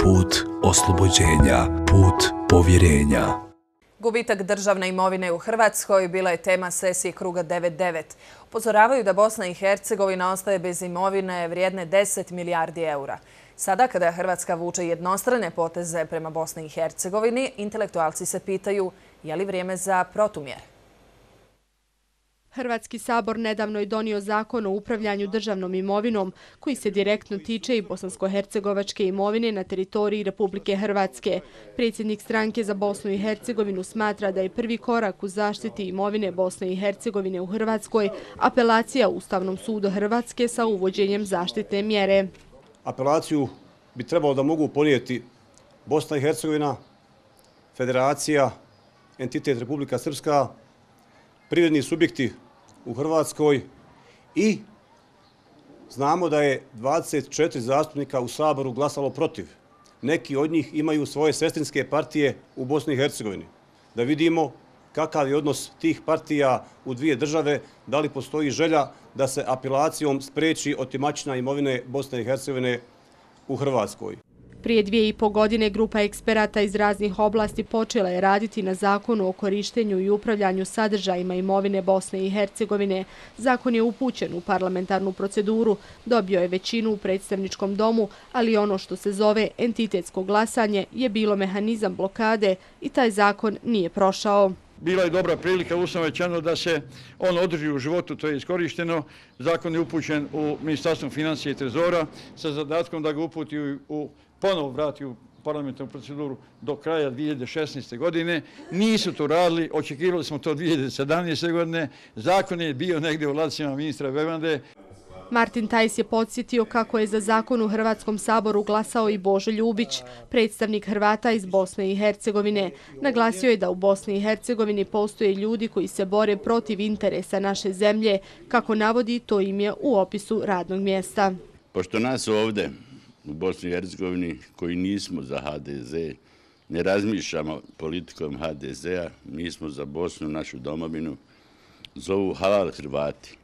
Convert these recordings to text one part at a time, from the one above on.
put oslobođenja, put povjerenja. Gubitak državne imovine u Hrvatskoj bila je tema sesije kruga 9-9. Upozoravaju da Bosna i Hercegovina ostaje bez imovine vrijedne 10 milijardi eura. Sada, kada Hrvatska vuče jednostrane poteze prema Bosni i Hercegovini, intelektualci se pitaju je li vrijeme za protumjere. Hrvatski sabor nedavno je donio zakon o upravljanju državnom imovinom koji se direktno tiče i bosansko-hercegovačke imovine na teritoriji Republike Hrvatske. Predsjednik stranke za Bosnu i Hercegovinu smatra da je prvi korak u zaštiti imovine Bosne i Hercegovine u Hrvatskoj apelacija Ustavnom sudu Hrvatske sa uvođenjem zaštitne mjere. Apelaciju bi trebalo da mogu podnijeti Bosna i Hercegovina, Federacija, entitet Republika Srpska, privredni subjekti u Hrvatskoj i znamo da je 24 zastupnika u Saboru glasalo protiv. Neki od njih imaju svoje sestrinske partije u Bosni i Hercegovini. Da vidimo kakav je odnos tih partija u dvije države, da li postoji želja da se apelacijom spreči otimačina imovine Bosne i Hercegovine u Hrvatskoj. Prije 2,5 godine grupa eksperata iz raznih oblasti počela je raditi na zakonu o korištenju i upravljanju sadržajima imovine Bosne i Hercegovine. Zakon je upućen u parlamentarnu proceduru, dobio je većinu u predstavničkom domu, ali ono što se zove entitetsko glasanje je bilo mehanizam blokade i taj zakon nije prošao. Bila je dobra prilika, ustavno rečeno, da se on održi u životu, to je iskorišteno. Zakon je upućen u Ministarstvo financija i trezora sa zadatkom da ga uputi ponovo vrati u parlamentarnu proceduru do kraja 2016. godine. Nisu to radili, očekivali smo to 2017. godine. Zakon je bio negdje u ladicama ministra Bevande. Martin Tajs je podsjetio kako je za zakon u Hrvatskom saboru glasao i Božo Ljubić, predstavnik Hrvata iz Bosne i Hercegovine. Naglasio je da u Bosni i Hercegovini postoje ljudi koji se bore protiv interesa naše zemlje, kako navodi, to im je u opisu radnog mjesta. Pošto nas ovdje u Bosni i Hercegovini koji nismo za HDZ, ne razmišljamo politikom HDZ-a, mi smo za Bosnu, našu domovinu, zovu halal Hrvati.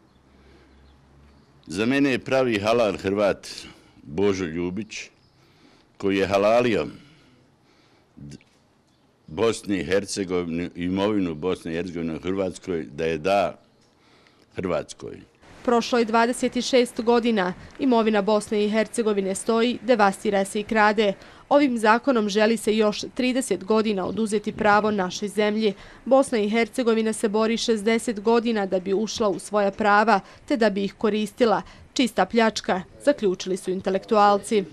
Za mene je pravi halal Hrvat Božo Ljubić, koji je halalio Bosni i Hercegovini, imovinu Bosne i Hercegovine u Hrvatskoj, da je da Hrvatskoj. Prošlo je 26 godina, imovina Bosne i Hercegovine stoji, devastira se i krade. Ovim zakonom želi se još 30 godina oduzeti pravo našoj zemlji. Bosna i Hercegovina se bori 60 godina da bi ušla u svoja prava, te da bi ih koristila. Čista pljačka, zaključili su intelektualci.